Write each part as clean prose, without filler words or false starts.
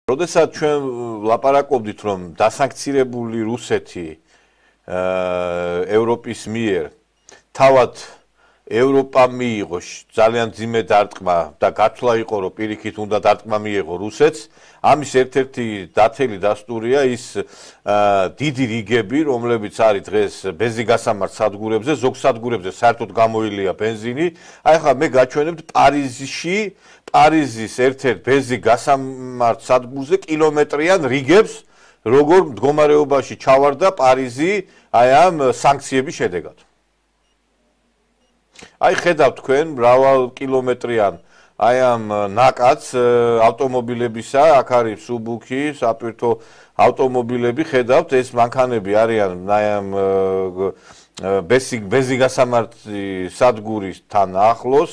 როდესაც ჩვენ ლაპარაკობდით, რომ დასანქცირებული რუსეთი ევროპის მიერ თავად ევროპა მიიღო ძალიან ძიმე დარტყმა და გათვლა იყო, რომ პირიქით უნდა დარტყმა მიიღო რუსეთს. ამის ერთ-ერთი დათელი დასტურია ის დიდი რიგები, რომლებიც არის დღეს ბენზინგასამართ სადგურებზე, ზოგ სადგურებზე საერთოდ გამოილია ბენზინი. აი ხა მე გაჩვენებთ პარიზის ერთ-ერთ ბენზინგასამართ სადგურზე კილომეტრიან რიგებს, როგორ მდგომარეობაში ჩავარდა პარიზი აი ამ სანქციების შედეგად. აი ხედავთ თქვენ მრავალ კილომეტრიან აი ამ ნაკადს ავტომობილებისა, აქ არის სუბუქი, საპირთო ავტომობილები, ხედავთ ეს მანქანები არიან აი ამ ბენზინგასამართი სადგურისთან ახლოს,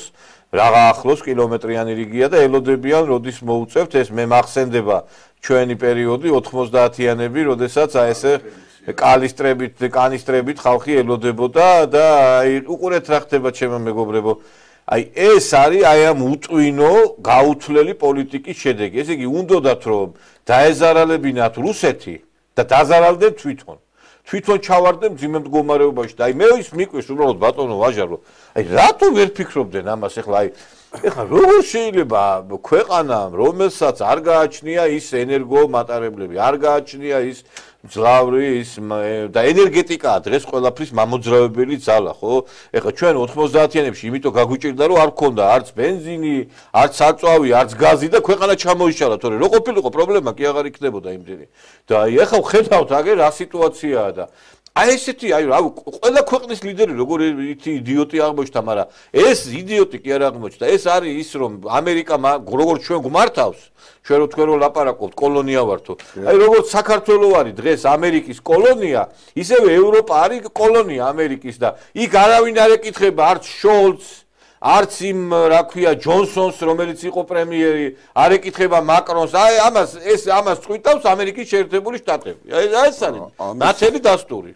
რაღა ახლოს კილომეტრიანი რიგია და ელოდებიან როდის მოუწევთ ეს მე მახსენდება ჩვენი პერიოდი 90-იანები, როდესაც აი ესე კანისტრებით ხალხი ელოდებოდა და აი უყურეთ რა ხდება ჩემო მეგობრებო. აი ეს არის აი ამ უტვინო გაუთვლელი პოლიტიკის შედეგი. ესე იგი უნდათ რომ დაეზარალებინათ რუსეთი და დაზარალდნენ თვითონ. თვითონ ჩავარდნენ ძიმე მდგომარეობაში და აი მე ის მიკვეს უბრალოდ ბატონო ვაჟარო. აი რატო ვერ ფიქრობდნენ ამას ახლა აი ეხლა როგორ შეიძლება ქვეყანამ რომელსაც არ გააჩნია ის ენერგომატარებლები, არ გააჩნია ის მძლავრი ის და ენერგეტიკაა დღეს ყველაფრის მამოძრავებელი ძალა, ხო? ეხლა ჩვენ 90-იანებში იმიტომ გაგვიჭირდა რომ არ გქონდა არც ბენზინი, არც საწვავი, არც გაზი და ქვეყანა ჩამოიშალა, თორე რო ყოფილიყო პრობლემა კი აღარ იქნებოდა იმდენი. და აი ეხლა ხედავთ აგერ რა სიტუაციაა და აი ესეთი აი რა ყველა ქვეყნის ლიდერი როგორ იდიოტი აღმოჩნდა, მაგრამ ეს იდიოტი კი არ აღმოჩნდა. ეს არის ის რომ ამერიკა როგორც ჩვენ გვმართავს, ჩვენ რო თქვენ რო ლაპარაკობთ, კოლონია ვართო. აი როგორც საქართველოს არის დღეს ამერიკის კოლონია, ისევე ევროპა არის კოლონია ამერიკის და იქ არავინ არ ეკითხება არც შოლცს, არც იმ რა ქვია ჯონსონს, რომელიც იყო პრემიერი, არ ეკითხება მაკრონს. აი ამას წვიტავს ამერიკის შეერთებული შტატები. აი ეს არის ნათელი დასტური.